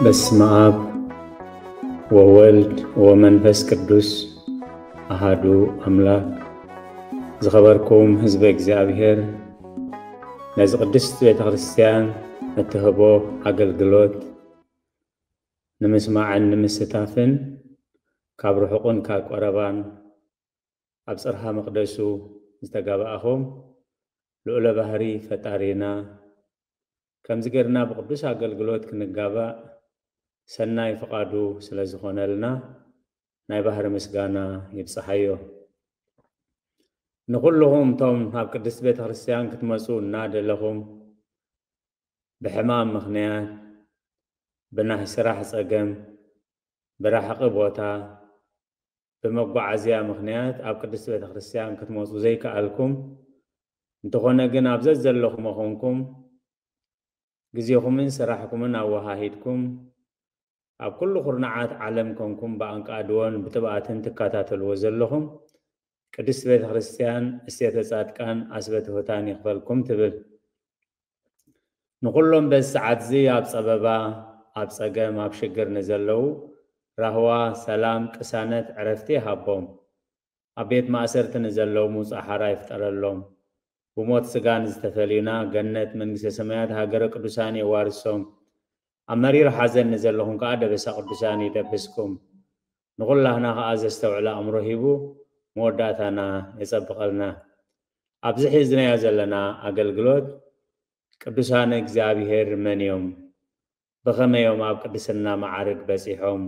በስመ አብ ወወልድ ወመንፈስ ቅዱስ አሃዱ አምላክ። ዝኸበርኩም ህዝበ እግዚኣብሔር፣ ነዚ ቅድስት ቤተ ክርስቲያን እትህቦ ኣገልግሎት ንምስማዕን ንምስታፍን ካብ ርሑቕን ካብ ቀረባን ኣብ ጽርሃ መቕደሱ ዝተጋባእኹም ልዑለ ባህሪ ፈጣሪና፣ ከምዚ ጌርና ብቅዱስ ኣገልግሎት ክንጋባእ ሰናይ ፍቓዱ ስለ ዝኾነልና ናይ ባህሪ ምስጋና ይብጽሓዮ። ንኹልኹም እቶም ናብ ቅድስት ቤተ ክርስቲያን ክትመጹ እናደለኹም ብሕማም ምኽንያት፣ ብናይ ስራሕ ጸገም፣ ብራሕቒ ቦታ፣ ብመጓዓዝያ ምኽንያት ኣብ ቅድስት ቤተ ክርስቲያን ክትመጹ ዘይከኣልኩም፣ እንተኾነ ግን ኣብ ዘዘለኹሞ ኾንኩም ግዜኹምን ስራሕኩምን ኣወሃሂድኩም ኣብ ኩሉ ኩርናዓት ዓለም ኮንኩም ብኣንቃድዎን ብጥብኣትን ትከታተልዎ ዘለኹም ቅድስት ቤተ ክርስቲያን እሴተ ጻድቃን ኣስበ ትሑታን ይኽፈልኩም ትብል። ንኹሎም በዚ ሰዓት እዚ ኣብ ጸበባ፣ ኣብ ጸገም፣ ኣብ ሽግር ንዘለዉ ራህዋ፣ ሰላም፣ ቅሳነት፣ ዕረፍቲ ይሃቦም። ኣብ ቤት ማእሰርቲ ንዘለዉ ምውጻእ ሓራ ይፍጠረሎም። ብሞት ስጋ ንዝተፈልዩና ገነት መንግስተ ሰማያት ሃገረ ቅዱሳን የዋርሶም። ኣብ መሪር ሓዘን ንዘለኹም ከኣ ደበሳ ቅዱሳን ይደብስኩም። ንኹላህና ከኣ ዘስተውዕል ኣእምሮ ሂቡ መወዳእታና የጸብቐልና። ኣብዚ ሒዝናዮ ዘለና ኣገልግሎት ቅዱሳን እግዚኣብሔር መን እዮም? ብኸመይ እዮም ኣብ ቅድስና መዓርግ በጺሖም?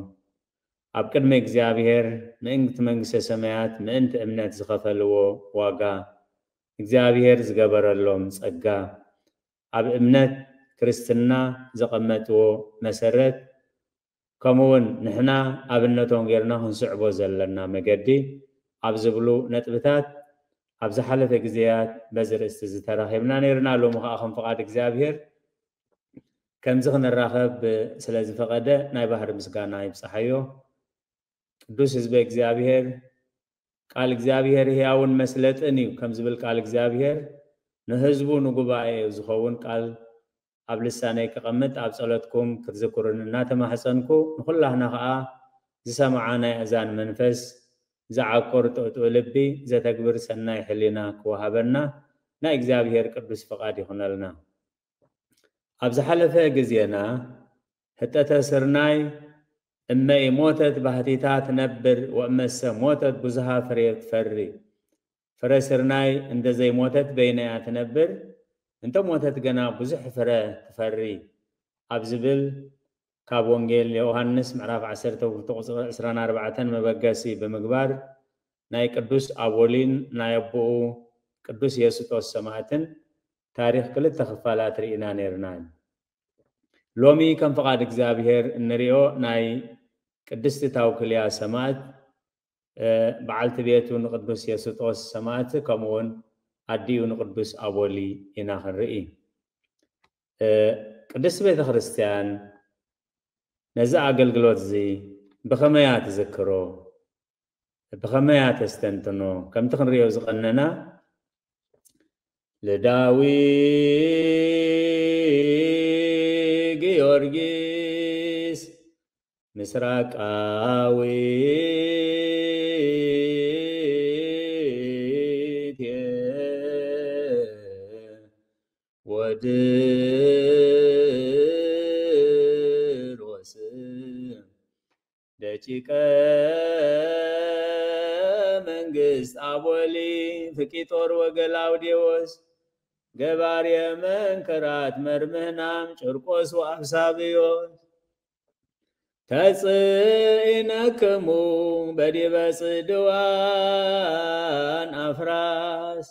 ኣብ ቅድሚ እግዚኣብሔር ምእንቲ መንግስተ ሰማያት ምእንቲ እምነት ዝኸፈልዎ ዋጋ፣ እግዚኣብሔር ዝገበረሎም ጸጋ፣ ኣብ እምነት ክርስትና ዘቐመጥዎ መሰረት፣ ከምኡ እውን ንሕና ኣብነቶም ጌርና ክንስዕቦ ዘለና መገዲ ኣብ ዝብሉ ነጥብታት ኣብ ዝሓለፈ ግዜያት በዚ ርእስቲ እዚ ተራኺብና ነይርና። ሎሚ ከኣ ከም ፍቓድ እግዚኣብሔር ከምዚ ክንራኸብ ስለ ዝፈቐደ ናይ ባህሪ ምስጋና ይብጽሓዮ። ቅዱስ ህዝበ እግዚኣብሔር፣ ቃል እግዚኣብሔር ህያውን መስለጥን እዩ ከም ዝብል ቃል እግዚኣብሔር ንህዝቡ ንጉባኤ ዝኸውን ቃል ኣብ ልሳነይ ክቐምጥ ኣብ ጸሎትኩም ክትዝክሩኒ እናተማሕጸንኩ፣ ንኹላህና ኸኣ ዝሰምዓ ናይ ኣእዛን መንፈስ፣ ዝዓቁር ጥዕጡዕ ልቢ፣ ዘተግብር ሰናይ ሕሊና ክወሃበና ናይ እግዚኣብሔር ቅዱስ ፍቓድ ይኹነልና። ኣብ ዝሓለፈ ግዜና ህጠተ ስርናይ እመ ኢሞተት ባህቲታ ትነብር ወእመሰ ሞተት ብዙሃ ፍሬ ትፈሪ። ፍረ ስርናይ እንተ ዘይሞተት በይና እያ ትነብር፣ እንተ ሞተት ገና ብዙሕ ፍረ ትፈሪ ኣብ ዝብል ካብ ወንጌል ዮሃንስ ምዕራፍ ዓሰርተ ክልተ ቁጽሪ ዕስራን ኣርባዕተን መበገሲ ብምግባር ናይ ቅዱስ ኣቦሊን ናይ ኣቦኡ ቅዱስ የስጦስ ሰማእትን ታሪኽ ክልተ ክፋላት ርኢና ነይርና። ሎሚ ከም ፍቓድ እግዚኣብሔር እንሪኦ ናይ ቅድስቲ ታውክልያ ሰማእት፣ እ፣ በዓልቲ ቤቱ ንቅዱስ የስጦስ ሰማእት ከምኡውን ኣዲኡ ንቅዱስ ኣቦሊ ኢና ክንርኢ። እ፣ ቅድስቲ ቤተ ክርስቲያን ነዚ ኣገልግሎት እዚ ብኸመይ እያ ትዝክሮ? ብኸመይ እያ ተስተንትኖ? ከምቲ ክንሪኦ ዝቐነና ልዳዊ ጊዮርጊስ ምስራቃዊት ወድሮስ ደቂቀ መንግስት ኣቦሊ ፍቂጦር ወገላውዴዎስ ገባርየ መንክራት መርምህናም ጭርቆስ ወአብሳብዮስ ተጽኢነክሙ በዲበ ጽድዋን ኣፍራስ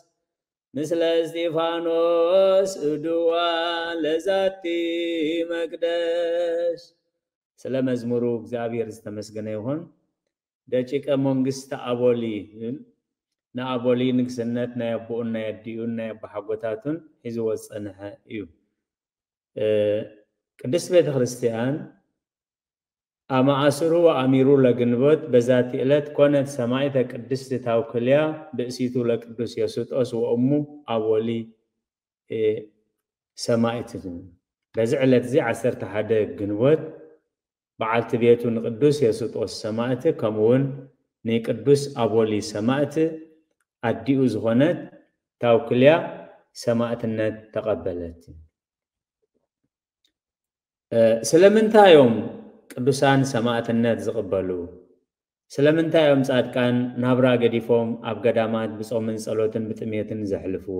ምስለ እስጢፋኖስ እድዋ ለዛቲ መቅደስ። ስለ መዝሙሩ እግዚኣብሔር ዝተመስገነ ይኹን። ደቂቀ መንግስቲ ኣቦሊ ይብል። ንኣቦሊ ንግስነት ናይ ኣቦኡን ናይ ኣዲኡን ናይ ኣቦሓጎታቱን ሒዝዎ ዝጸንሐ እዩ። ቅድስት ቤተ ክርስቲያን ኣማእስሩ ወኣሚሩ ለግንቦት በዛቲ ዕለት ኮነት ሰማዕተ ቅድስት ታውክልያ ብእሲቱ ለቅዱስ የሱጦስ ወእሙ ኣቦሊ ሰማዕት። በዚ ዕለት እዚ ዓሰርተ ሓደ ግንቦት በዓልቲ ቤቱ ንቅዱስ የሱጦስ ሰማዕት ከምኡውን ንቅዱስ ኣቦሊ ሰማዕት ኣዲኡ ዝኾነት ታውክልያ ሰማዕትነት ተቐበለት። ስለምንታይ እዮም ቅዱሳን ሰማዕትነት ዝቕበሉ? ስለምንታይ እዮም ጻድቃን ናብራ ገዲፎም ኣብ ገዳማት ብጾምን ጸሎትን ብጥሜትን ዘሕልፍዎ?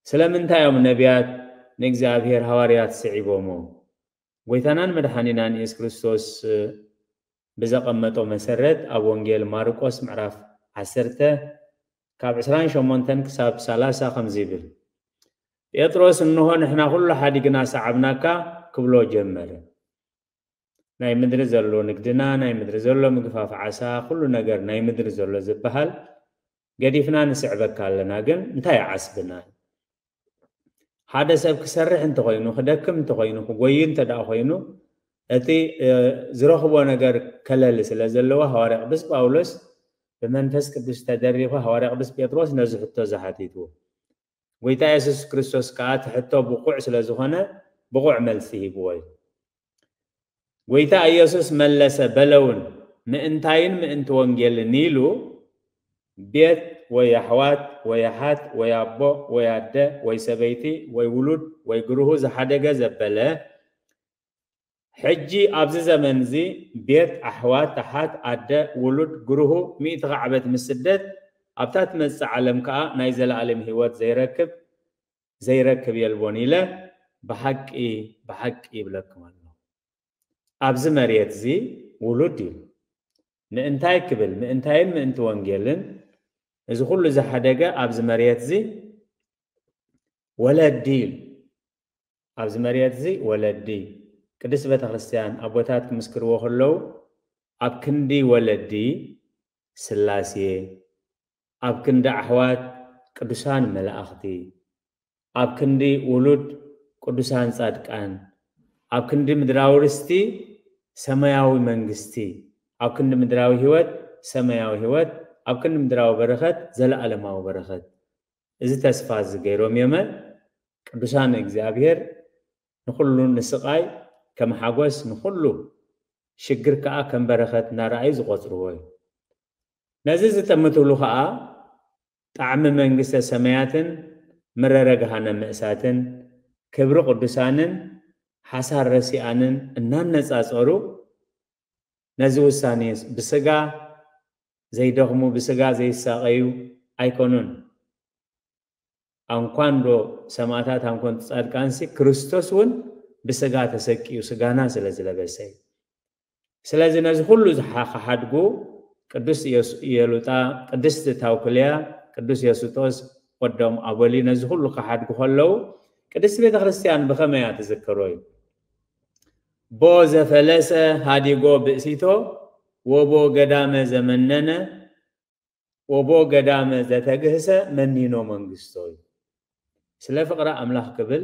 ስለምንታይ እዮም ነቢያት ንእግዚኣብሔር ሃዋርያት ስዒቦሞ? ጎይታናን መድሓኒናን የሱስ ክርስቶስ ብዘቐመጦ መሰረት ኣብ ወንጌል ማርቆስ ምዕራፍ ዓሰርተ ካብ ዕስራን ሸሞንተን ክሳብ ሰላሳ ከምዚ ይብል፣ ጴጥሮስ እንሆ ንሕና ኩሉ ሓዲግና ሰዓብናካ ክብሎ ጀመረ። ናይ ምድሪ ዘሎ ንግድና፣ ናይ ምድሪ ዘሎ ምግፋፍ ዓሳ፣ ኩሉ ነገር ናይ ምድሪ ዘሎ ዝበሃል ገዲፍና ንስዕበካ ኣለና፣ ግን እንታይ ዓስብና? ሓደ ሰብ ክሰርሕ እንተኾይኑ፣ ክደክም እንተኾይኑ፣ ክጎይ እንተ ደኣ ኮይኑ፣ እቲ ዝረኽቦ ነገር ከለሊ ስለ ዘለዎ፣ ሃዋርያ ቅዱስ ጳውሎስ ብመንፈስ ቅዱስ ተደሪኹ ሃዋርያ ቅዱስ ጴጥሮስ ነዚ ሕቶ ዝሓቲትዎ። ጎይታ የሱስ ክርስቶስ ከኣ እቲ ሕቶ ብቑዕ ስለ ዝኾነ ብቑዕ መልሲ ሂብዎ እዩ። ጎይታ ኢየሱስ መለሰ በለውን፣ ምእንታይን ምእንቲ ወንጌልን ኢሉ ቤት ወይ ኣሕዋት ወይ ኣሓት ወይ ኣቦ ወይ ኣደ ወይ ሰበይቲ ወይ ውሉድ ወይ ግርሁ ዝሓደገ ዘበለ፣ ሕጂ ኣብዚ ዘመን እዚ ቤት፣ ኣሕዋት፣ ኣሓት፣ ኣደ፣ ውሉድ፣ ግርሁ፣ ሚእቲ ካዕበት ምስ ስደት ኣብታ ትመጽእ ዓለም ከኣ ናይ ዘለኣለም ህይወት ዘይረክብ ዘይረክብ የልቦን ኢለ ብሓቂ ብሓቂ ይብለኩም ኣሎ። ኣብዚ መሬት እዚ ውሉድ እዩ። ምእንታይ ክብል ምእንታይን ምእንቲ ወንጌልን እዚ ኩሉ ዝሓደገ ኣብዚ መሬት እዚ ወለዲ እዩ። ኣብዚ መሬት እዚ ወለዲ ቅድስት ቤተ ክርስቲያን ኣቦታት ክምስክርዎ ከለዉ ኣብ ክንዲ ወለዲ ስላሴ፣ ኣብ ክንዲ ኣሕዋት ቅዱሳን መላእኽቲ፣ ኣብ ክንዲ ውሉድ ቅዱሳን ጻድቃን፣ ኣብ ክንዲ ምድራዊ ርስቲ ሰማያዊ መንግስቲ፣ ኣብ ክንዲ ምድራዊ ህይወት ሰማያዊ ህይወት፣ ኣብ ክንዲ ምድራዊ በረኸት ዘለኣለማዊ በረኸት። እዚ ተስፋ እዚ ገይሮም እዮመ ቅዱሳን እግዚኣብሔር ንኹሉ ንስቓይ ከም ሓጎስ ንኹሉ ሽግር ከኣ ከም በረኸት እናረኣዩ ዝቖጽርዎ እዩ። ነዚ ዝጥምትሉ ከኣ ጣዕሚ መንግስተ ሰማያትን ምረረ ገሃነም ምእሳትን ክብሪ ቅዱሳንን ሓሳር ረሲኣንን እናነጻጸሩ ነዚ ውሳኔ ብስጋ ዘይደኽሙ ብስጋ ዘይሳቐዩ ኣይኮኑን። ኣንኳን ዶ ሰማዕታት ኣንኮን ጻድቃንሲ ክርስቶስ እውን ብስጋ ተሰቅዩ ስጋና ስለ ዝለበሰ እዩ። ስለዚ ነዚ ኩሉ ዝሓ- ክሓድጉ ቅዱስ ኢየሱ- ኢየሉጣ፣ ቅድስቲ ታውክልያ፣ ቅዱስ የሱጦስ ወዶም ኣቦሊ ነዚ ኩሉ ክሓድጉ ከለዉ ቅድስቲ ቤተ ክርስቲያን ብኸመይ እያ ትዝክሮ እዩ? ቦ ዘፈለሰ ሃዲጎ ብእሲቶ ወቦ ገዳመ ዘመነነ ወቦ ገዳመ ዘተግህሰ መኒኖ መንግስቶ እዩ። ስለ ፍቕሪ ኣምላኽ ክብል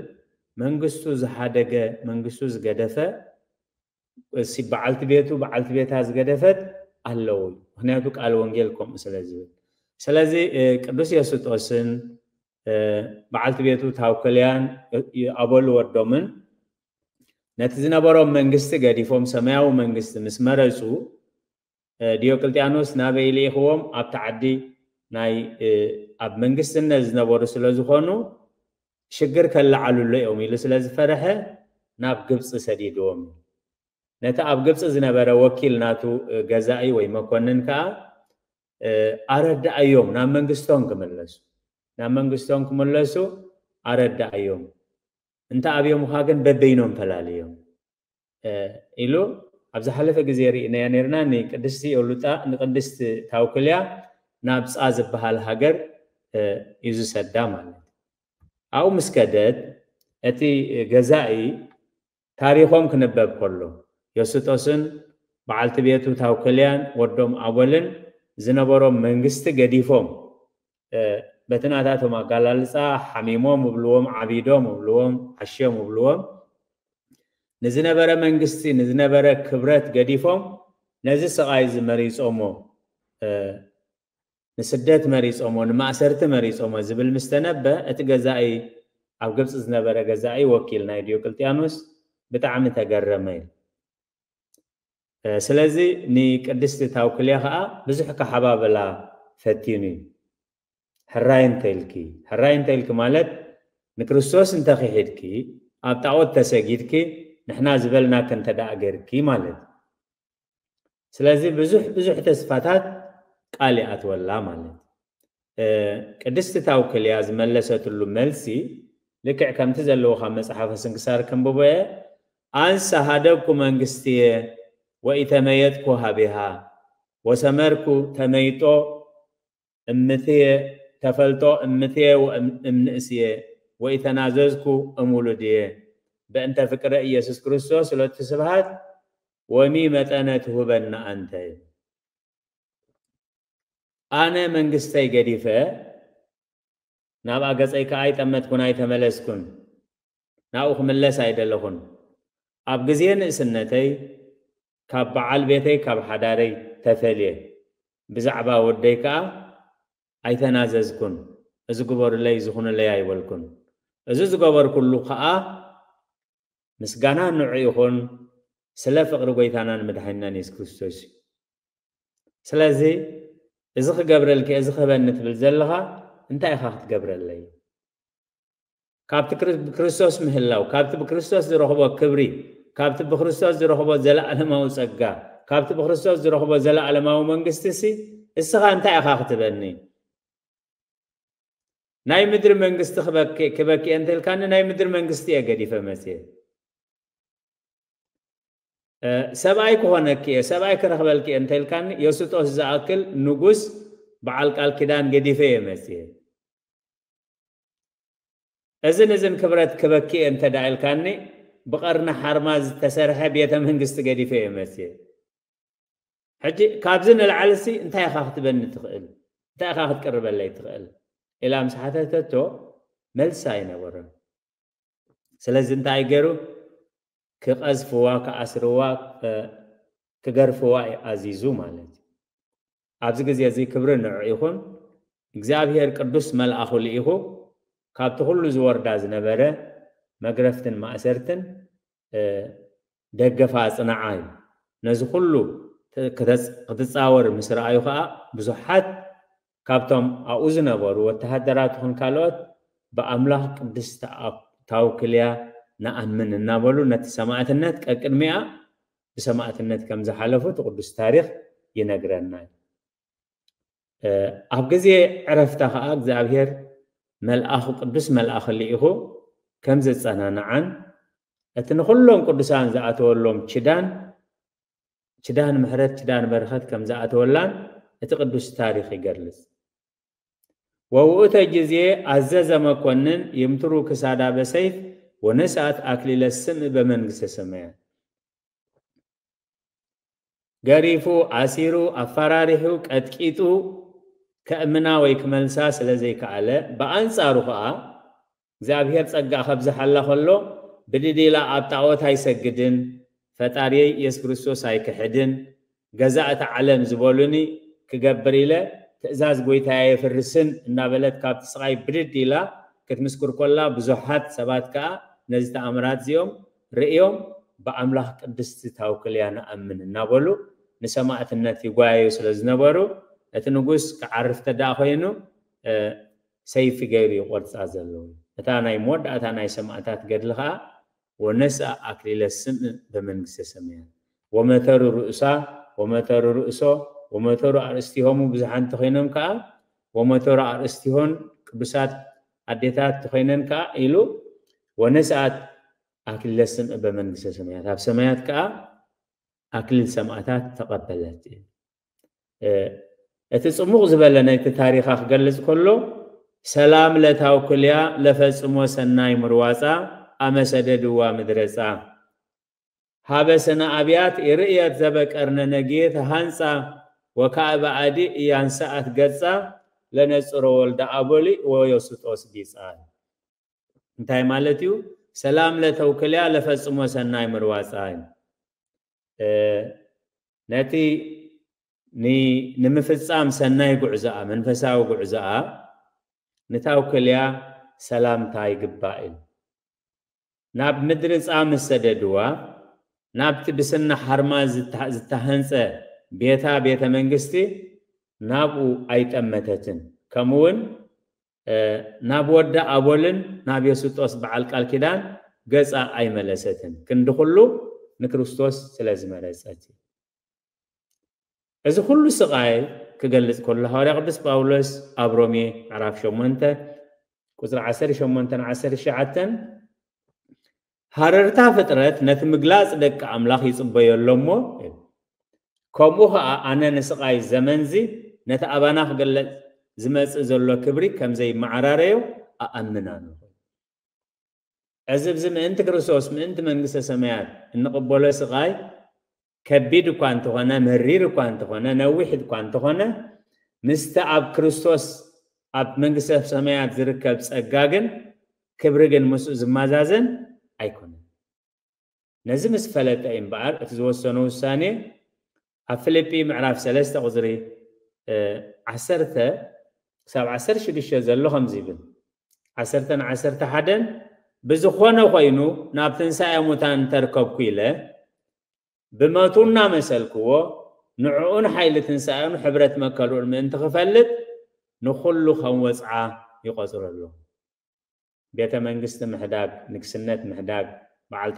መንግስቱ ዝሓደገ መንግስቱ ዝገደፈ እሲ በዓልቲ ቤቱ በዓልቲ ቤታ ዝገደፈት ኣለዉ። ምክንያቱ ቃል ወንጌል ከምኡ ስለ ዝብል። ስለዚ ቅዱስ የሱጦስን በዓልቲ ቤቱ ታውክልያን ኣበሉ ወዶምን ነቲ ዝነበሮም መንግስቲ ገዲፎም ሰማያዊ መንግስቲ ምስ መረፁ ዲዮቅልጥያኖስ ናበይ ልኢኽዎም? ኣብቲ ዓዲ ናይ ኣብ መንግስትነት ዝነበሩ ስለ ዝኾኑ ሽግር ከለዓልሎ እዮም ኢሉ ስለ ዝፈረሐ ናብ ግብፂ ሰዲድዎም። ነቲ ኣብ ግብፂ ዝነበረ ወኪል ናቱ ገዛኢ ወይ መኮንን ከዓ ኣረዳኣዮም ናብ መንግስቶም ክምለሱ ናብ መንግስቶም ክምለሱ ኣረዳእዮም። እንተ ኣብዮምኻ ግን በበይኖም ፈላልዮም ኢሉ ኣብ ዝሓለፈ ግዜ ርኢናያ ነርና። ንቅድስቲ ዮሉጣ ንቅድስቲ ታውክልያ ናብ ጻ ዝበሃል ሃገር እዩ ዝሰዳ ማለት። ኣብኡ ምስ ከደት እቲ ገዛኢ ታሪኾም ክንበብ ከሎ ዮስጦስን በዓልቲ ቤቱ ታውክልያን ወዶም ኣወልን ዝነበሮም መንግስቲ ገዲፎም በቲ ናታቶም ኣጋላልፃ ሓሚሞም እብልዎም፣ ዓቢዶም እብልዎም፣ ዓሽዮም እብልዎም፣ ንዝነበረ መንግስቲ ንዝነበረ ክብረት ገዲፎም ነዚ ስቓይ እዚ መሪፆሞ ንስደት መሪፆሞ ንማእሰርቲ መሪፆሞ ዝብል ምስ ተነበ እቲ ገዛኢ ኣብ ግብፂ ዝነበረ ገዛኢ ወኪል ናይ ዲዮቅልጥያኖስ ብጣዕሚ ተገረመ እዩ። ስለዚ ንቅድስቲ ታውክልያ ከዓ ብዙሕ ከሓባበላ ፈቲኑ እዩ። ሕራይ እንተኢልኪ፣ ሕራይ እንተኢልኪ ማለት ንክርስቶስ እንተክሒድኪ ኣብ ጣዖት ተሰጊድኪ ንሕና ዝበልናኪ እንተደኣ ገርኪ ማለት እዩ። ስለዚ ብዙሕ ብዙሕ ተስፋታት ቃል ይኣትወላ ማለት። ቅድስቲ ታውክልያ ዝመለሰትሉ መልሲ ልክዕ ከምቲ ዘለዎ ካብ መጽሓፈ ስንክሳር ክንብቦ እየ። ኣንሰ ሃደግኩ መንግስትየ ወኢተመየጥኩ ሃቤሃ ወሰመርኩ ተመይጦ እምትየ ተፈልጦ እምትየ እምንእስየ ወኢተናዘዝኩ እምውሉድየ በእንተ ፍቅረ ኢየሱስ ክርስቶስ ሁለቱ ስብሃት ወሚ መጠነ ትሁበና ኣንተ። ኣነ መንግስተይ ገዲፈ ናብኣ ገጸይ ከኣ ኣይጠመትኩን ኣይተመለስኩን፣ ናብኡ ክምለስ ኣይደለኹን። ኣብ ግዜ ንእስነተይ ካብ በዓል ቤተይ ካብ ሓዳረይ ተፈልየ፣ ብዛዕባ ወደይ ከኣ ኣይተናዘዝኩን፣ እዚ ግበሩለይ ዝኹኑለይ ኣይበልኩን። እዚ ዝገበርኩሉ ከኣ ምስጋና ንዑ ይኹን ስለ ፍቕሪ ጎይታናን መድሓኒናን የሱስ ክርስቶስ እዩ። ስለዚ እዚ ክገብረልኪ እዚ ክህበኒ ትብል ዘለኻ እንታይ ኢኻ ክትገብረለይ? ካብቲ ብክርስቶስ ምህላው ካብቲ ብክርስቶስ ዝረኽቦ ክብሪ ካብቲ ብክርስቶስ ዝረኽቦ ዘለኣለማዊ ጸጋ ካብቲ ብክርስቶስ ዝረኽቦ ዘለኣለማዊ መንግስቲ ሲ እስኻ እንታይ ኢኻ ክትበኒ? ናይ ምድሪ መንግስቲ ክበኪ ክበኪ እንተልካኒ ናይ ምድሪ መንግስቲ እየ ገዲፈ መጽየ። ሰብኣይ ክኾነኪ እየ ሰብኣይ ክረኽበልኪ እየ እንተልካኒ የሱጦስ ዝኣክል ንጉስ በዓል ቃል ኪዳን ገዲፈ እየ መጽየ። እዝን እዝን ክብረት ክበኪ እየ እንተ ደኣ ኢልካኒ ብቐርኒ ሓርማ ዝተሰርሐ ቤተ መንግስቲ ገዲፈ እየ መጽየ። ሕጂ ካብዚ ንላዕልሲ እንታይ ኢኻ ክትበኒ ትኽእል? እንታይ ኢኻ ክትቅርበለይ ትኽእል? ኢላ ምስ ሓተተቶ መልሲ ኣይነበሮን። ስለዚ እንታይ ገይሩ? ክቐዝፍዋ፣ ክኣስርዋ፣ ክገርፍዋ እዩ ኣዚዙ ማለት እዩ። ኣብዚ ግዜ እዚ ክብሪ ንዑ ይኹን። እግዚኣብሔር ቅዱስ መልኣኹ ልኢኹ ካብቲ ኩሉ ዝወርዳ ዝነበረ መግረፍትን ማእሰርትን ደገፋ ኣጽንዓ እዩ። ነዚ ኩሉ ክትጻወር ምስ ረኣዩ ከኣ ብዙሓት ካብቶም ኣብኡ ዝነበሩ ወተሃደራት ይኹን ካልኦት ብኣምላኽ ቅድስቲ ታውክልያ ንኣምን እናበሉ ነቲ ሰማእትነት ቀቅድሚኣ ብሰማእትነት ከም ዝሓለፉ እቲ ቅዱስ ታሪኽ ይነግረና እዩ። ኣብ ግዜ ዕረፍታ ከዓ እግዚኣብሔር መልኣኹ ቅዱስ መልኣኽ ልኢኹ ከም ዘጸናንዓን እቲ ንኹሎም ቅዱሳን ዝኣተወሎም ችዳን ችዳን ምሕረት ችዳን በረኸት ከም ዝኣተወላን እቲ ቅዱስ ታሪኽ ይገልጽ። ወውእተ ጊዜ አዘዘ መኮንን ይምትሩ ክሳዳ በሰይፍ ወነስአት አክሊለ ስም በመንግስተ ሰማያት። ገሪፉ፣ አሲሩ፣ አፈራሪሑ፣ ቀጥቂጡ ከእምና ወይ ክመልሳ ስለ ዘይከኣለ፣ ብኣንጻሩ ከኣ እግዚኣብሔር ጸጋ ከብዝሓላ ከሎ ብድድ ኢላ ኣብ ጣዖት ኣይሰግድን፣ ፈጣሪየይ ኢየሱስ ክርስቶስ ኣይክሕድን፣ ገዛ እታ ዓለም ዝበሉኒ ክገብር ኢለ ትእዛዝ ጎይታየ የፍርስን እናበለት ካብቲ ስቓይ ብድድ ኢላ ክትምስክር ኮላ ብዙሓት ሰባት ከኣ ነዚ ተኣምራት እዚኦም ርእዮም ብኣምላኽ ቅድስቲ ታውክልያ ንኣምን እናበሉ ንሰማእትነት ይጓየዩ ስለ ዝነበሩ እቲ ንጉስ ክዓርፍ ተደኣ ኮይኑ ሰይፊ ገይሩ ይቆርጻ ዘለዉ። እታ ናይ መወዳእታ ናይ ሰማእታት ገድሊ ከኣ ወነስአ አክሊለ ስም በመንግስተ ሰማያት ወመተሩ ርእሳ ወመተሩ ርእሶ ወመተሩ ኣርእስቲሆሙ ብዙሓን እንተኾይኖም ከኣ ወመተሩ ኣርእስቲሆን ቅዱሳት ኣዴታት ተኾይነን ከዓ ኢሉ ወነስኣት ኣክሊለ ስምዒ በመንግስተ ሰማያት፣ ኣብ ሰማያት ከዓ ኣክሊል ሰማእታት ተቐበለት። እቲ ጽሙቕ ዝበለ ናይቲ ታሪኻ ክገልጽ ከሎ ሰላም ለታውክልያ ለፈጽሞ ሰናይ ምርዋፃ ኣመሰደድዋ ምድረፃ ሃበ ሰነ ኣብያት ይርእየት ዘበቀርነ ነጌት ሃንፃ ወካዕበ ኣዲ እያንሰኣት ገፃ ለነጽሮ ወልደ ኣቦሊ ወዮስጦስ ቢፃ። እንታይ ማለት እዩ? ሰላም ለተውክልያ ለፈጽሞ ሰናይ ምርዋፃ እዩ። ነቲ ንምፍጻም ሰናይ ጉዕዞኣ መንፈሳዊ ጉዕዞኣ ንታውክልያ ሰላምታ ይግባእ እዩ። ናብ ምድሪ ጻ ምስ ሰደድዋ ናብቲ ብስና ሓርማ ዝተሃንጸ ቤታ ቤተ መንግስቲ ናብኡ ኣይጠመተትን። ከምኡውን ናብ ወዳ ኣቦልን ናብ የሱጦስ በዓል ቃል ኪዳን ገጻ ኣይመለሰትን። ክንዲ ኩሉ ንክርስቶስ ስለ ዝመረጸት እዩ። እዚ ኩሉ ስቓይ ክገልጽ ከሎ ሃዋርያ ቅዱስ ጳውሎስ ኣብ ሮሜ ምዕራፍ ሸሞንተ ቁጽሪ ዓሰርተ ሸሞንተ ዓሰርተ ትሽዓተ ሃረርታ ፍጥረት ነቲ ምግላጽ ደቂ ኣምላኽ ይጽበዮ ኣሎ እሞ፣ ከምኡ ኸኣ ኣነ ንስቓይ ዘመንዚ ነቲ ኣባና ክገለጽ ዝመጽእ ዘሎ ክብሪ ከም ዘይመዓራረዮ ኣኣምን ኣለኹ። እዚ ብዚ ምእንቲ ክርስቶስ ምእንቲ መንግስተ ሰማያት እንቕበሎ ስቓይ ከቢድ እኳ እንተኾነ፣ መሪር እኳ እንተኾነ፣ ነዊሕ እኳ እንተኾነ፣ ምስቲ ኣብ ክርስቶስ ኣብ መንግስተ ሰማያት ዝርከብ ጸጋ ግን ክብሪ ግን ምስኡ ዝመዛዘን ኣይኮነን። ነዚ ምስ ፈለጠ እዩ እምበኣር እቲ ዝወሰኖ ውሳኔ ኣብ ፊልጲ ምዕራፍ ሰለስተ ቁጽሪ ዓሰርተ ክሳብ ዓሰርተ ሽዱሽተ ዘሎ ከምዚ ይብል። ዓሰርተን ዓሰርተ ሓደን ብዝኾነ ኮይኑ ናብ ትንሳኤ ሙታን እንተርከብኩ ኢለ ብመቱ እናመሰልክዎ ንዕኡን ሓይሊ ትንሳኤኡን ሕብረት መከልኡን ምእንቲ ክፈልጥ ንኹሉ ከም ወፅዓ ይቆፅሮ ኣለኹ። ቤተ መንግስቲ ምሕዳግ፣ ንግስነት ምሕዳግ፣ በዓል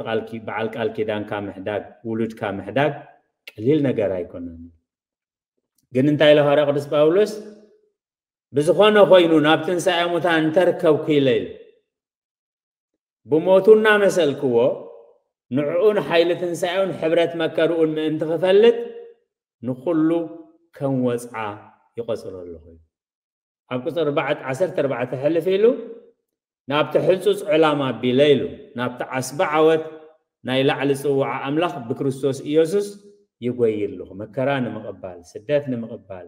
ቃል ኪዳንካ ምሕዳግ፣ ውሉድካ ምሕዳግ ቀሊል ነገር ኣይኮነን። ግን እንታይ ኢለ ሃዋርያ ቅዱስ ጳውሎስ ብዝኾነ ኮይኑ ናብ ትንሳኤ ሙታን እንተርከብኩ ኢለ ኢሉ ብሞቱ እናመሰልክዎ ንዕኡን ሓይሊ ትንሳኤኡን ሕብረት መከርኡን ምእንቲ ክፈልጥ ንኹሉ ከም ወፅዓ ይቆፅሮ ኣለኹ። ኣብ ቁፅሪ ዓሰርተ ኣርባዕተ ሕልፍ ኢሉ ናብቲ ሕንፁፅ ዕላማ ኣቢለ ኢሉ ናብቲ ዓስቢ ዓወት ናይ ላዕሊ ፅዋዓ ኣምላኽ ብክርስቶስ ኢየሱስ ይጎይ ኣለኹ። መከራ ንምቕባል፣ ስደት ንምቕባል፣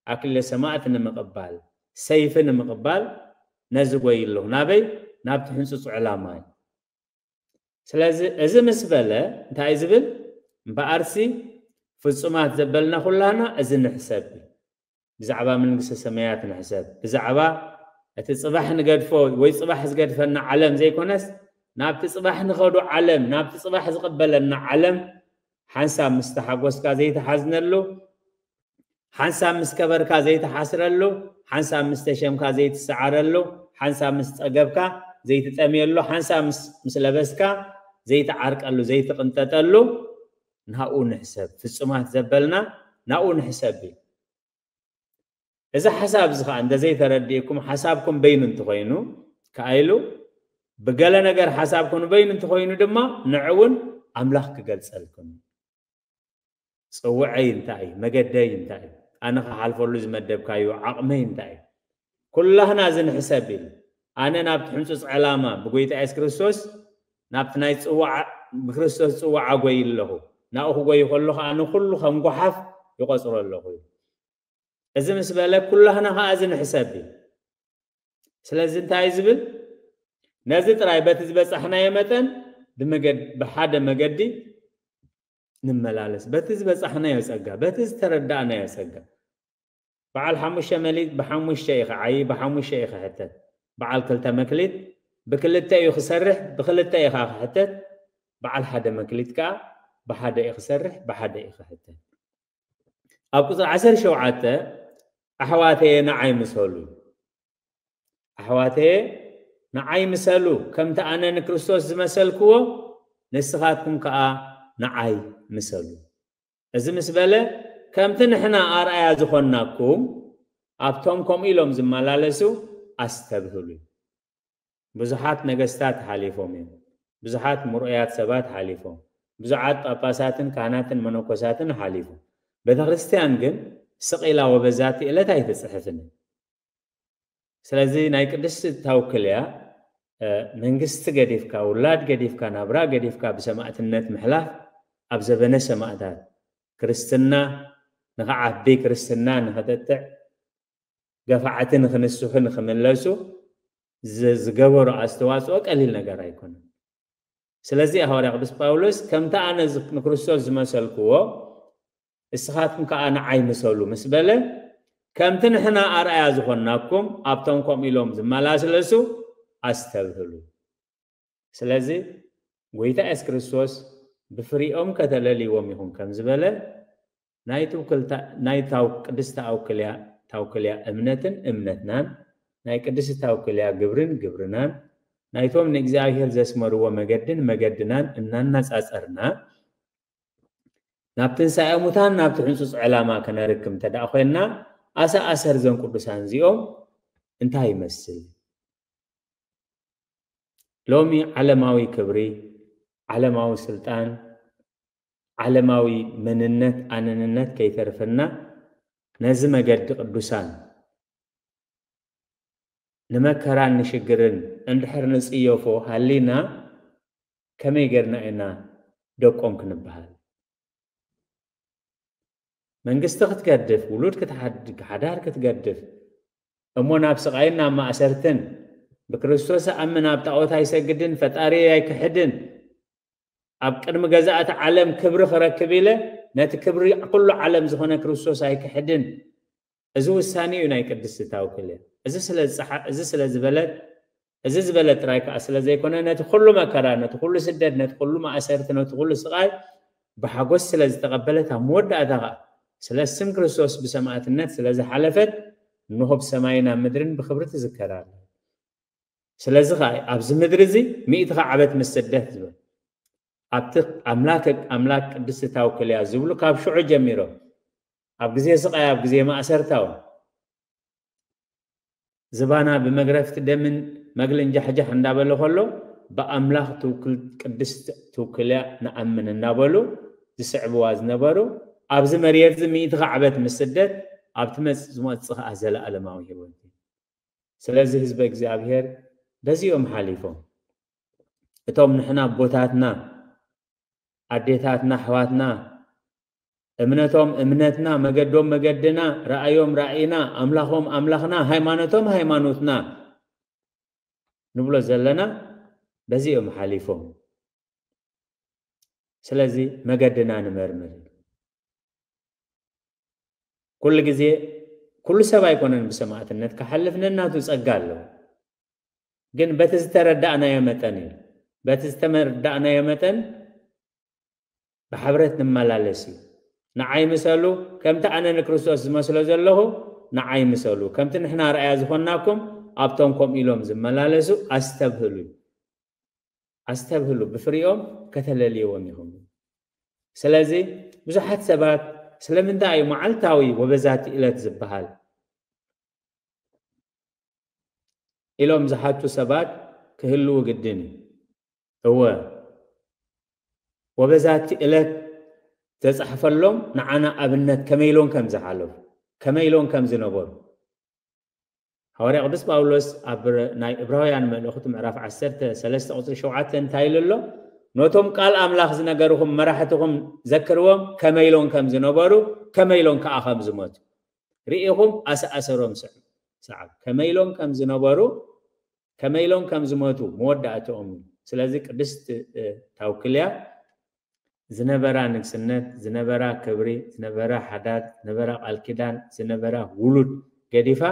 ኣክሊለ ሰማእት ንምቕባል፣ ሰይፊ ንምቕባል ነዚ ጎይ ኣለኹ። ናበይ? ናብቲ ሕንፁፅ ዕላማ እዩ። ስለዚ እዚ ምስ በለ እንታይ እዩ ዝብል? እምበኣርሲ ፍጹማት ዘበልና ኩላና እዚ ንሕሰብ። ብዛዕባ መንግስተ ሰማያት ንሕሰብ። ብዛዕባ እቲ ጽባሕ ንገድፎ ወይ ጽባሕ ዝገድፈና ዓለም ዘይኮነስ ናብቲ ጽባሕ ንኸዶ ዓለም፣ ናብቲ ጽባሕ ዝቕበለና ዓለም ሓንሳብ ምስ ተሓጎስካ ዘይተሓዝነሉ፣ ሓንሳብ ምስ ከበርካ ዘይተሓስረሉ፣ ሓንሳብ ምስ ተሸምካ ዘይትሰዓረሉ፣ ሓንሳብ ምስ ጸገብካ ዘይትጠምየሉ፣ ሓንሳብ ምስ ለበስካ ዘይትዓርቀሉ ዘይትቕንጠጠሉ ናብኡ ንሕሰብ። ፍጹማት ዘበልና ናብኡ ንሕሰብ እዩ። እዚ ሓሳብ እዚ ኸዓ እንተዘይተረዲእኩም ሓሳብኩም በይኑ እንተኾይኑ ከኣ ኢሉ ብገለ ነገር ሓሳብኩም በይኑ እንተኾይኑ ድማ ንዕውን ኣምላኽ ክገልጸልኩም እዩ። ጽውዐይ እንታይ እዩ? መገደይ እንታይ እዩ? ኣነ ክሓልፈሉ ዝመደብካዮ ዓቕመይ እንታይ እዩ? ኩላህና እዚ ንሕሰብ ኢሉ ኣነ ናብቲ ሕንጹጽ ዕላማ ብጎይታ የሱስ ክርስቶስ ናብቲ ናይ ጽዋዓ ብክርስቶስ ጽዋዓ ጎይ ኣለኹ። ናብኡ ክጎይ ከሎ ኸዓ ንኹሉ ከም ጓሓፍ ይቆጽሮ ኣለኹ እዩ። እዚ ምስ በለ ኩላህና ኸዓ እዚ ንሕሰብ እዩ። ስለዚ እንታይ እዩ ዝብል? ነዚ ጥራይ በቲ ዝበጻሕናዮ መጠን ብመገድ ብሓደ መገዲ ንመላለስ። በቲ ዝበጻሕናዮ ጸጋ፣ በቲ ዝተረዳእናዮ ጸጋ። በዓል ሓሙሽተ መሊእ ብሓሙሽተ እዩ ክዓዪ፣ ብሓሙሽተ እዩ ክሕተት። በዓል ክልተ መክሊት ብክልተ እዩ ክሰርሕ፣ ብክልተ እዩ ከዓ ክሕተት። በዓል ሓደ መክሊት ከዓ ብሓደ እዩ ክሰርሕ፣ ብሓደ እዩ ክሕተት። ኣብ ቁጽሪ ዓሰርተ ሸውዓተ ኣሕዋተየ ንዓይ ምሰሉ። ኣሕዋተየ ንዓይ ምሰሉ፣ ከምቲ ኣነ ንክርስቶስ ዝመሰልክዎ ንስኻትኩም ከኣ ንዓይ ምሰሉ። እዚ ምስ በለ ከምቲ ንሕና ኣርኣያ ዝኾንናኩም ኣብቶም ከምኡ ኢሎም ዝመላለሱ ኣስተብህሉ። ብዙሓት ነገስታት ሓሊፎም እዮም። ብዙሓት ምርኡያት ሰባት ሓሊፎም፣ ብዙሓት ጳጳሳትን ካህናትን መነኮሳትን ሓሊፎም። ቤተክርስትያን ግን ስቕ ኢላ ወበዛቲ ዕለት ኣይትጽሕፍን። ስለዚ ናይ ቅድስቲ ታውክልያ መንግስቲ ገዲፍካ፣ ውላድ ገዲፍካ፣ ናብራ ገዲፍካ ብሰማእትነት ምሕላፍ ኣብ ዘበነ ሰማእታት ክርስትና ንኽዓቢ፣ ክርስትና ንኽጥጥዕ፣ ገፋዕቲ ንኽንስሑ ንኽምለሱ ዝገበሩ ኣስተዋፅኦ ቀሊል ነገር ኣይኮነን። ስለዚ ሃዋርያ ቅዱስ ጳውሎስ ከምቲ ኣነ ንክርስቶስ ዝመሰልክዎ እስኻትኩም ከዓ ንዓይ ምሰሉ ምስ በለ፣ ከምቲ ንሕና ኣርኣያ ዝኾንናኩም ኣብቶም ከምኡ ኢሎም ዝመላለሱ ኣስተብህሉ። ስለዚ ጎይታ የሱስ ክርስቶስ ብፍሪኦም ከተለልይዎም ኢኹም ከም ዝበለ ናይ ትውክልታ ናይ ታው ቅድስቲ ኣውክልያ ታውክልያ እምነትን እምነትናን ናይ ቅድስቲ ታውክልያ ግብርን ግብርናን ናይቶም ንእግዚኣብሔር ዘስመርዎ መገድን መገድናን እናናጻጸርና ናብ ትንሳኤ ሙታን ናብቲ ሕንጹጽ ዕላማ ከነርክብ እንተ ደኣ ኮይንና ኣሰኣሰር ዘን ቅዱሳን እዚኦም እንታይ ይመስል? ሎሚ ዓለማዊ ክብሪ፣ ዓለማዊ ስልጣን፣ ዓለማዊ መንነት ኣነንነት ከይተርፈና ነዚ መገዲ ቅዱሳን ንመከራን ንሽግርን እንድሕር ንጽየፎ ሃሊና ከመይ ጌርና ኢና ደቆም ክንበሃል? መንግስቲ ክትገድፍ፣ ውሉድ ክትሓድ- ሓዳር ክትገድፍ እሞ ናብ ስቓይን ናብ ማእሰርትን ብክርስቶስ ኣምን ኣብ ጣዖት ኣይሰግድን ፈጣሪ ኣይክሕድን ኣብ ቅድሚ ገዛእቲ ዓለም ክብሪ ክረክብ ኢለ ነቲ ክብሪ ኩሉ ዓለም ዝኾነ ክርስቶስ ኣይክሕድን። እዚ ውሳኔ እዩ ናይ ቅድስቲ ታውክልያ። እዚ ስለ ዝጸሓ- እዚ ስለ ዝበለት እዚ ዝበለ ጥራይ ከኣ ስለ ዘይኮነ ነቲ ኩሉ መከራ ነቲ ኩሉ ስደት ነቲ ኩሉ ማእሰርቲ ነቲ ኩሉ ስቓይ ብሓጎስ ስለ ዝተቐበለት ኣብ መወዳእታ ከኣ ስለ ስም ክርስቶስ ብሰማእትነት ስለ ዝሓለፈት እንሆ ብሰማይን ኣብ ምድርን ብክብሪ ትዝከር ኣላ። ስለዚ ከኣ ኣብዚ ምድሪ እዚ ሚእቲ ከዓበት ምስ ስደት ዝብል ኣብቲ ኣምላክ ኣምላክ ቅድስቲ ታውክልያ ዝብሉ ካብ ሽዑ ጀሚሮም ኣብ ግዜ ስቓይ ኣብ ግዜ ማእሰርታ እውን ዝባና ብመግረፍቲ ደምን መግልን ጃሕጃሕ እንዳበለ ከሎ ብኣምላኽ ትውክል ቅድስቲ ትውክልያ ንኣምን እናበሉ ዝስዕብዋ ዝነበሩ ኣብዚ መርየት እዚ ሚእቲ ካዕበት ምስ ስደት ኣብቲ መጽ ዝመጽእ ከኣ ዘለኣለማዊ ህይወት እዩ። ስለዚ ህዝበ እግዚኣብሔር በዚኦም ሓሊፎም እቶም ንሕና ኣቦታትና ኣዴታትና ኣሕዋትና እምነቶም እምነትና መገዶም መገድና ራእዮም ራእይና ኣምላኾም ኣምላኽና ሃይማኖቶም ሃይማኖትና ንብሎ ዘለና በዚኦም ሓሊፎም። ስለዚ መገድና ንመርምር። ኩሉ ግዜ ኩሉ ሰብ ኣይኮነን ብሰማእትነት ክሓልፍ ነናቱ ጸጋ ኣለዎ። ግን በቲ ዝተረዳእናዮ መጠን እዩ። በቲ ዝተረዳእናዮ መጠን ብሕብረት ንመላለስ እዩ። ንዓይ ምሰሉ ከምቲ ኣነ ንክርስቶስ ዝመስሎ ዘለኹ ንዓይ ምሰሉ ከምቲ ንሕና ርኣያ ዝኾንናኩም ኣብቶም ከምኡ ኢሎም ዝመላለሱ ኣስተብህሉ እዩ። ኣስተብህሉ ብፍሪኦም ከተለልይዎም ኢኹም። ስለዚ ብዙሓት ሰባት ስለምንታይ እዩ መዓልታዊ ወበዛቲ እለት ዝበሃል ኢሎም ዝሓቱ ሰባት ክህልዉ ግድን እዩ። እወ ወበዛቲ እለት ዘጻሕፈሎም ንዓና ኣብነት ከመይ ኢሎም ከም ዝሓለፉ ከመይ ኢሎም ከም ዝነበሩ ሃዋርያ ቅዱስ ጳውሎስ ኣብ ናይ እብራውያን መልእኽቱ ምዕራፍ ዓሰርተ ሰለስተ ቁፅሪ ሸውዓተ እንታይ ኢሉ ኣሎ? ነቶም ቃል ኣምላኽ ዝነገርኹም መራሕትኹም ዘክርዎም ከመይ ኢሎም ከም ዝነበሩ ከመይ ኢሎም ከዓ ከም ዝሞቱ ርኢኹም ኣሰኣሰሮም ስዕብ ሰዓብ ከመይ ኢሎም ከም ዝነበሩ ከመይ ኢሎም ከም ዝሞቱ መወዳእትኦም እዩ። ስለዚ ቅድስት ታውክልያ ዝነበራ ንግስነት ዝነበራ ክብሪ ዝነበራ ሓዳር ዝነበራ ቃል ኪዳን ዝነበራ ውሉድ ገዲፋ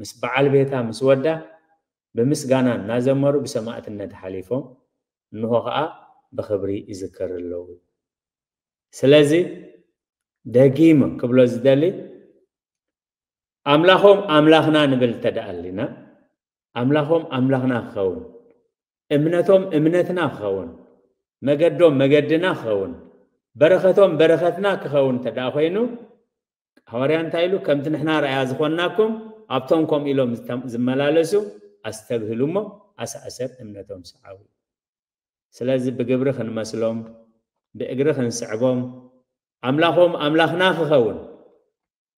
ምስ በዓል ቤታ ምስ ወዳ ብምስጋና እናዘመሩ ብሰማእትነት ሓሊፎም እንሆ ከዓ ብክብሪ ይዝከር ኣለዉ። ስለዚ ደጊም ክብሎ ዝደሊ ኣምላኾም ኣምላኽና ንብል ተደኣሊና ኣምላኾም ኣምላኽና ክኸውን እምነቶም እምነትና ክኸውን መገዶም መገድና ክኸውን በረኸቶም በረኸትና ክኸውን ተደኣ ኮይኑ ሃዋርያ እንታይ ኢሉ ከምቲ ንሕና ረኣያ ዝኾንናኩም ኣብቶም ከምኡ ኢሎም ዝመላለሱ ኣስተብህሉ እሞ ኣሰኣሰር እምነቶም ሰዓቡ። ስለዚ ብግብሪ ክንመስሎም፣ ብእግሪ ክንስዕቦም፣ ኣምላኾም ኣምላኽና ክኸውን፣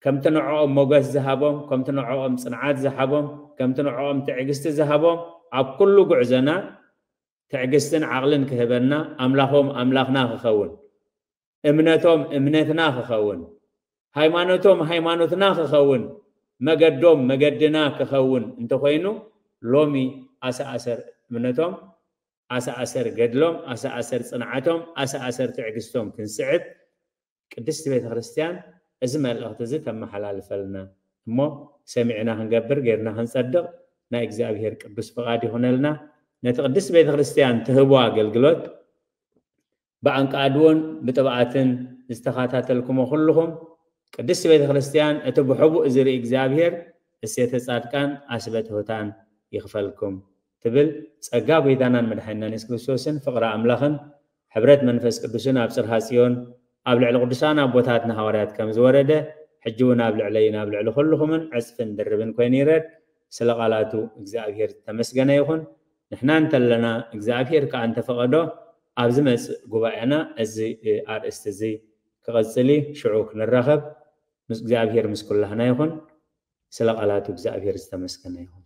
ከምቲ ንዕኦም ሞገስ ዝሃቦም፣ ከምቲ ንዕኦም ጽንዓት ዝሃቦም፣ ከምቲ ንዕኦም ትዕግስቲ ዝሃቦም፣ ኣብ ኩሉ ጉዕዞና ትዕግስትን ዓቕልን ክህበና፣ ኣምላኾም ኣምላኽና ክኸውን፣ እምነቶም እምነትና ክኸውን፣ ሃይማኖቶም ሃይማኖትና ክኸውን፣ መገዶም መገድና ክኸውን እንተኾይኑ፣ ሎሚ ኣሰኣሰር እምነቶም፣ ኣሰኣሰር ገድሎም፣ ኣሰኣሰር ጽንዓቶም፣ ኣሰኣሰር ትዕግስቶም ክንስዕብ ቅድስቲ ቤተ ክርስቲያን እዚ መልእኽቲ እዚ ተመሓላልፈልና እሞ፣ ሰሚዕና ክንገብር፣ ጌርና ክንጸድቕ ናይ እግዚኣብሔር ቅዱስ ፍቓድ ይኹነልና። ነቲ ቅድስቲ ቤተ ክርስቲያን ትህቦ ኣገልግሎት ብኣንቃድዎን ብጥብኣትን ዝተኸታተልኩሞ ኩልኹም፣ ቅድስቲ ቤተ ክርስቲያን እቲ ብሕቡእ ዝርኢ እግዚኣብሔር እሴተ ጻድቃን ኣስበ ትሑታን ይኽፈልኩም ትብል። ጸጋ ጎይታናን መድሓኒናን የሱስ ክርስቶስን ፍቕሪ ኣምላኽን ሕብረት መንፈስ ቅዱስን ኣብ ጽርሃ ጽዮን ኣብ ልዕሊ ቅዱሳን ኣቦታትና ሃዋርያት ከም ዝወረደ፣ ሕጂ እውን ኣብ ልዕለይን ኣብ ልዕሊ ኩልኹምን ዕጽፍን ድርብን ኮይኑ ይረድ። ስለ ቃላቱ እግዚኣብሔር ዝተመስገነ ይኹን። ንሕና እንተለና እግዚኣብሔር ከኣ እንተፈቐዶ ኣብ ዝመጽእ ጉባኤና እዚ ኣርእስቲ እዚ ክቐጽል እዩ። ሽዑ ክንራኸብ። ምስ እግዚኣብሔር ምስ ኩላህና ይኹን። ስለ ቃላቱ እግዚኣብሔር ዝተመስገነ ይኹን።